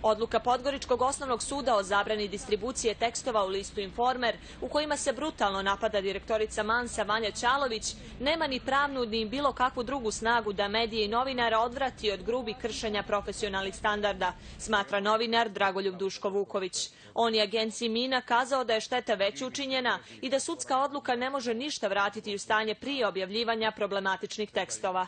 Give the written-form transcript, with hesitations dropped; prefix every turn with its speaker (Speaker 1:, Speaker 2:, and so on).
Speaker 1: Odluka Podgoričkog osnovnog suda o zabrani distribucije tekstova u listu Informer, u kojima se brutalno napada direktorica Mansa Vanja Ćalović, nema ni pravnu ni bilo kakvu drugu snagu da medije i novinara odvrati od grubih kršenja profesionalnih standarda, smatra novinar Dragoljub Duško Vuković. On je agenciji Mina kazao da je šteta već učinjena i da sudska odluka ne može ništa vratiti u stanje prije objavljivanja problematičnih tekstova.